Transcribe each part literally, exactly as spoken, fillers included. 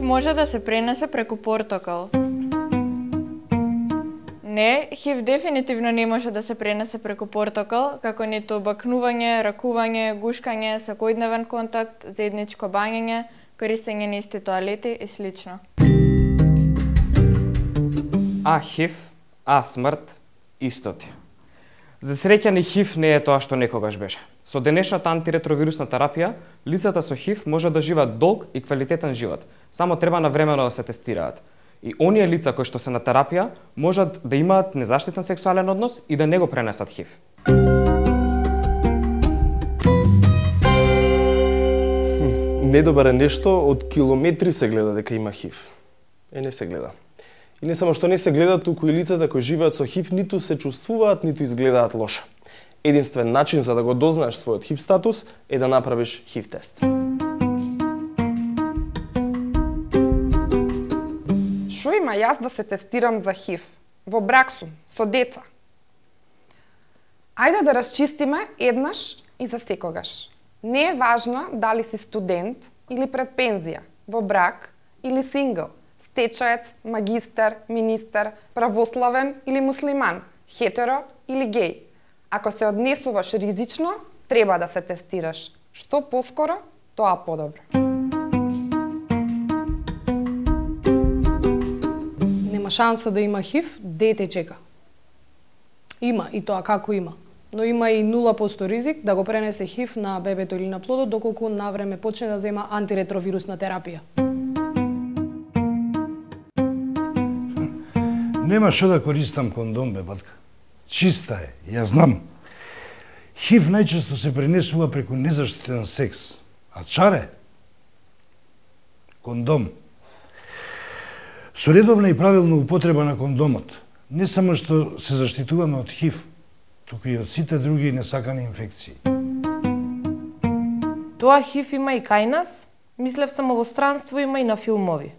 може да се пренесе преку портокал. Не, ХИВ дефинитивно не може да се пренесе преку портокал, како ниту бакнување, ракување, гушкање, секојдневен контакт, заедничко бањење, користење на исти тоалети и слично. А ХИВ, а смрт, истоти. За среќа ни ХИВ не е тоа што некогаш беше. Со денешната антиретровирусна терапија, лицата со ХИВ може да живеат долг и квалитетен живот, само треба навремено да се тестираат. И оние лица кои што се на терапија можат да имаат незаштитен сексуален однос и да не го пренесат ХИВ. Недобар е нешто, од километри се гледа дека има ХИВ. Е, не се гледа. И не само што не се гледа, туку и лицата кои живеат со ХИВ ниту се чувствуваат, ниту изгледаат лошо. Единствен начин за да го дознаеш својот ХИВ статус е да направиш ХИВ тест. Шо има јас да се тестирам за ХИВ? Во брак сум, со деца. Ајде да расчистиме еднаш и за секогаш. Не е важно дали си студент или пред пензија, во брак или сингл, стечаец, магистар, министер, православен или муслиман, хетеро или геј. Ако се однесуваш ризично, треба да се тестираш. Што поскоро, тоа подобро. Нема шанса да има ХИВ, дете чека. Има, и тоа како има. Но има и нула проценти ризик да го пренесе ХИВ на бебето или на плодот, доколку навреме почне да зема антиретровирусна терапија. Нема што да користам кондом, бе, батка. Чиста е, ја знам. ХИВ најчесто се пренесува преку незаштитен секс. А чаре? Кондом. Со редовна и правилна употреба на кондомот, не само што се заштитуваме од ХИВ, туку и од сите други несакани инфекции. Тоа ХИВ има и кај нас, мислев само во странство има и на филмови.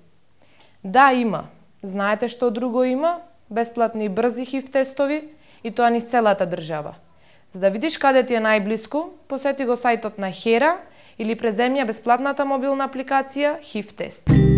Да, има. Знаете што друго има? Бесплатни и брзи ХИВ тестови и тоа низ целата држава. За да видиш каде ти е најблиску, посети го сајтот на Хера или преземја бесплатната мобилна апликација ХИВ тест.